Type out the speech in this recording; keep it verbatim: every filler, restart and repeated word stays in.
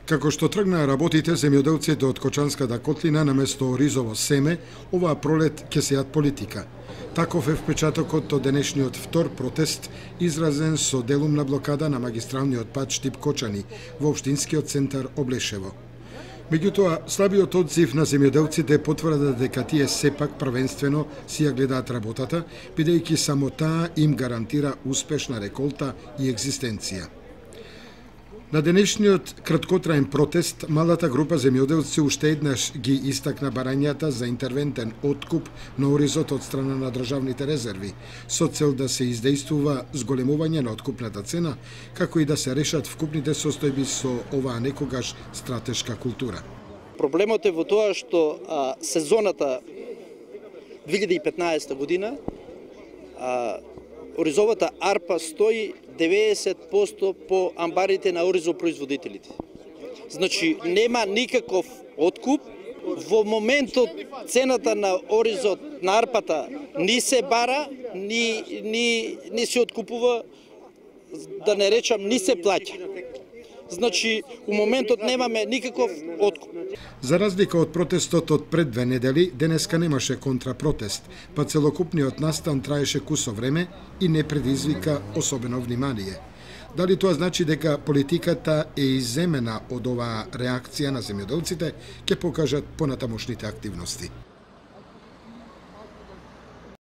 Како што тргнаа работите, земјоделците од Кочанската котлина наместо ризово семе, оваа пролет ќе сеат политика. Таков е впечатокот од денешниот втор протест, изразен со делумна блокада на магистралниот пат Штип-Кочани во општинскиот центар Облешево. Меѓутоа, слабиот одзив на земјоделците потврда дека тие сепак првенствено си ја гледаат работата, бидејќи само таа им гарантира успешна реколта и екзистенција. На денешниот краткотраен протест, малата група земјоделци уште еднаш ги истакна барањата за интервентен откуп на оризот од страна на државните резерви, со цел да се издействува зголемување на откупната цена, како и да се решат вкупните состојби со оваа некогаш стратешка култура. Проблемот е во тоа што а, сезоната две илјади и петнаесета година а, оризовата арпа стои деветдесет проценти по амбарите на оризопроизводителите. Значи, нема никаков откуп. Во моментот цената на оризот на арпата ни се бара, ни, ни, ни се откупува, да не речам, ни се плаќа. Значи, у моментот немаме никаков откуп. За разлика од протестот од пред две недели, денеска немаше контрапротест, па целокупниот настан траеше кусо време и не предизвика особено внимание. Дали тоа значи дека политиката е иземена од оваа реакција на земјоделците, ќе покажат понатамошните активности.